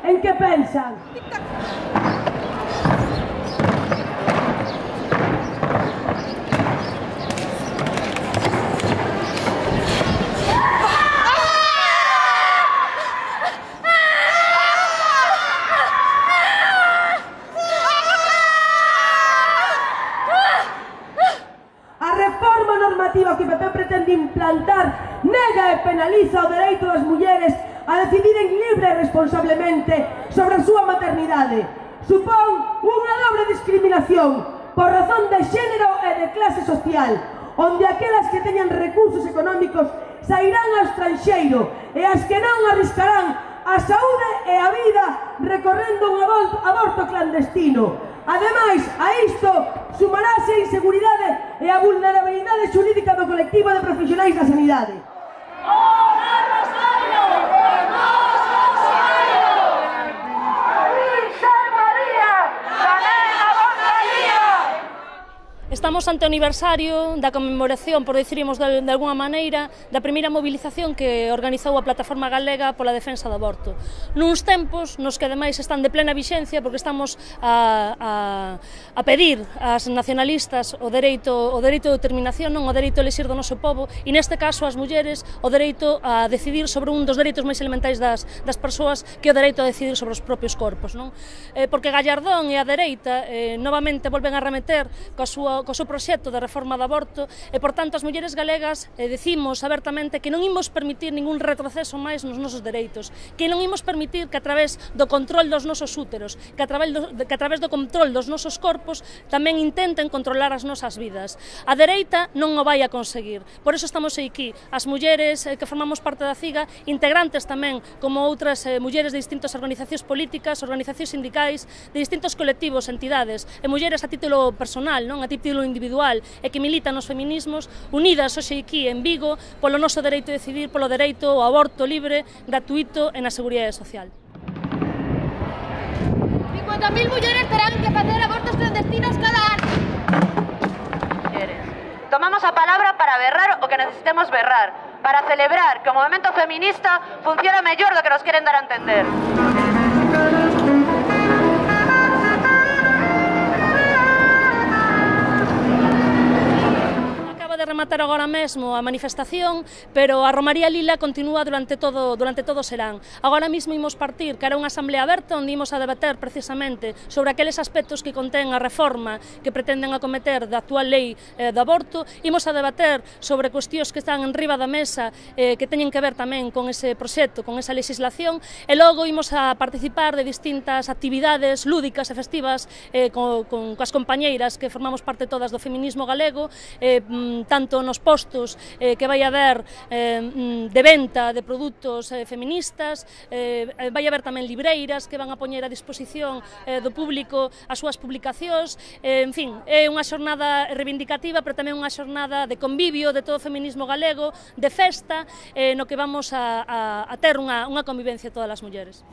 en que pensan. Que o PP pretende implantar nega e penaliza o dereito das mulleres a decidiren libre e responsablemente sobre a súa maternidade. Supón unha dobre discriminación por razón de xénero e de clase social, onde aquelas que teñan recursos económicos sairán ao estranxeiro e as que non arriscarán a saúde e a vida recorrendo un aborto clandestino. Ademais, a isto sumarase a inseguridade e a vulnerabilidade xurídica do colectivo de profesionais da sanidade. Estamos ante o aniversario da conmemoración, por dicirmos de alguna maneira, da primeira movilización que organizou a Plataforma Galega pola defensa do aborto. Nuns tempos nos que ademais están de plena vixencia porque estamos a pedir ás nacionalistas o dereito de determinación, non o dereito a elixir do noso pobo, e neste caso as mulleres o dereito a decidir sobre un dos dereitos máis elementais das persoas, que é o dereito a decidir sobre os propios corpos, non? Porque Gallardón e a dereita novamente volven a remeter co seu proxecto de reforma do aborto e, por tanto, as mulleres galegas decimos abertamente que non imos permitir ningún retroceso máis nos nosos dereitos, que non imos permitir que a través do control dos nosos úteros, que a través do control dos nosos corpos tamén intenten controlar as nosas vidas. A dereita non o vai a conseguir, por iso estamos aquí, as mulleres que formamos parte da CIGA, integrantes tamén como outras mulleres de distintas organizacións políticas, organizacións sindicais, de distintos colectivos, entidades, e mulleres a título personal, non a título individual e que militan nos feminismos, unidas hoxe aquí en Vigo polo noso dereito a decidir, polo dereito ao aborto libre, gratuito e na seguridade social. 50.000 mulleres terán que facer abortos clandestinos cada ano. Tomamos a palabra para berrar o que necesitemos berrar, para celebrar que o movimento feminista funciona mellor do que nos queren dar a entender. De rematar agora mesmo a manifestación, pero a Romaría Lila continúa durante todo o serán. Agora mesmo imos partir cara a unha asamblea aberta onde imos a debater precisamente sobre aqueles aspectos que contén a reforma que pretenden acometer da actual lei do aborto, imos a debater sobre cuestións que están en riba da mesa que teñen que ver tamén con ese proxecto, con esa legislación, e logo imos a participar de distintas actividades lúdicas e festivas coas compañeiras que formamos parte todas do feminismo galego, tanto nos postos que vai haber de venta de produtos feministas, vai haber tamén libreiras que van a poñer a disposición do público as súas publicacións, en fin, é unha xornada reivindicativa, pero tamén unha xornada de convivio de todo o feminismo galego, de festa, no que vamos a ter unha convivencia todas as mulleres.